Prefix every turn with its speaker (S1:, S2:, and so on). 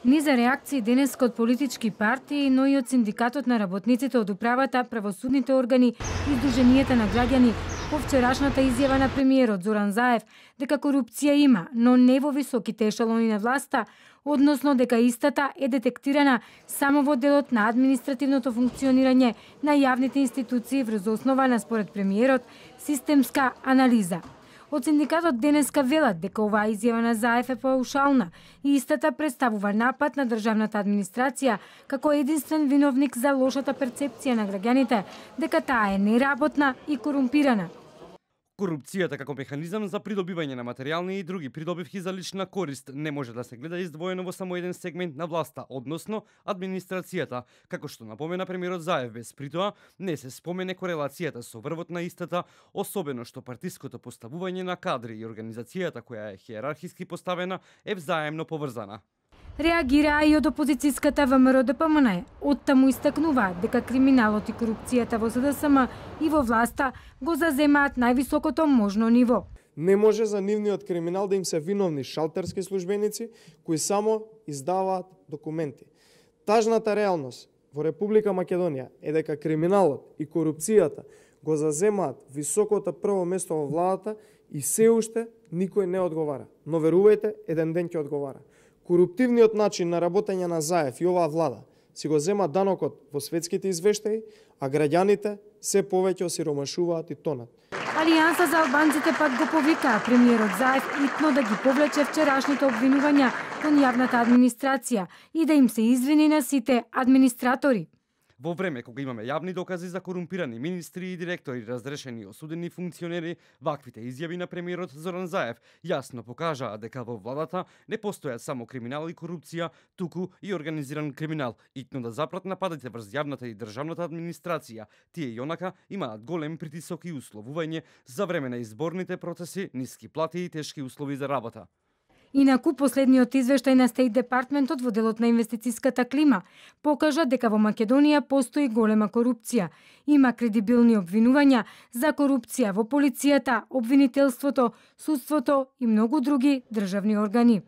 S1: Низа реакции денеска од политички партии, но и од синдикатот на работниците од управата, правосудните органи и Сдруженијата на граѓани по вчерашната изјава на премиерот Зоран Заев дека корупција има, но не во високите ешелони на власта, односно дека истата е детектирана само во делот на административното функционирање на јавните институции врз основа на, според премиерот, системска анализа. Од синдикатот денеска велат дека оваа изјава на Заев е паушална и истата представува напад на државната администрација како единствен виновник за лошата перцепција на граѓаните дека таа е неработна и корумпирана.
S2: Корупцијата како механизам за придобивање на материјални и други придобивки за лична корист не може да се гледа издвоено во само еден сегмент на власта, односно администрацијата, како што напомена премиерот Заев, без притоа не се спомене корелацијата со врвот на истата, особено што партиското поставување на кадри и организацијата која е хиерархиски поставена е взаемно поврзана.
S1: Реагираа и од опозицијската ВМРО-ДПМН. Оттаму истакнуваат дека криминалот и корупцијата во СДСМ и во власта го заземаат највисокото можно ниво.
S3: Не може за нивниот криминал да им се виновни шалтерски службеници кои само издаваат документи. Тажната реалност во Република Македонија е дека криминалот и корупцијата го заземаат високото прво место во владата и се уште никој не одговара. Но верувајте, еден ден ќе одговара. Коруптивниот начин на работење на Заев и оваа влада си го зема данокот во светските извештаи, а граѓаните се повеќе осиромашуваат и тонат.
S1: Алијанса за албанците пак го повикаа премиерот Заев итно да ги повлече вчерашните обвинувања кон јавната администрација и да им се извини на сите администратори.
S2: Во време кога имаме јавни докази за корумпирани министри и директори, разрешени и осудени функционери, ваквите изјави на премиерот Зоран Заев јасно покажаа дека во владата не постојат само криминал и корупција, туку и организиран криминал, итно да запрат нападите врз јавната и државната администрација. Тие и онака имаат голем притисок и условување за време на изборните процеси, ниски плати и тешки услови за работа.
S1: Инаку, последниот извештај на Стейт Департментот во делот на инвестицијската клима покажа дека во Македонија постои голема корупција. Има кредибилни обвинувања за корупција во полицијата, обвинителството, судството и многу други државни органи.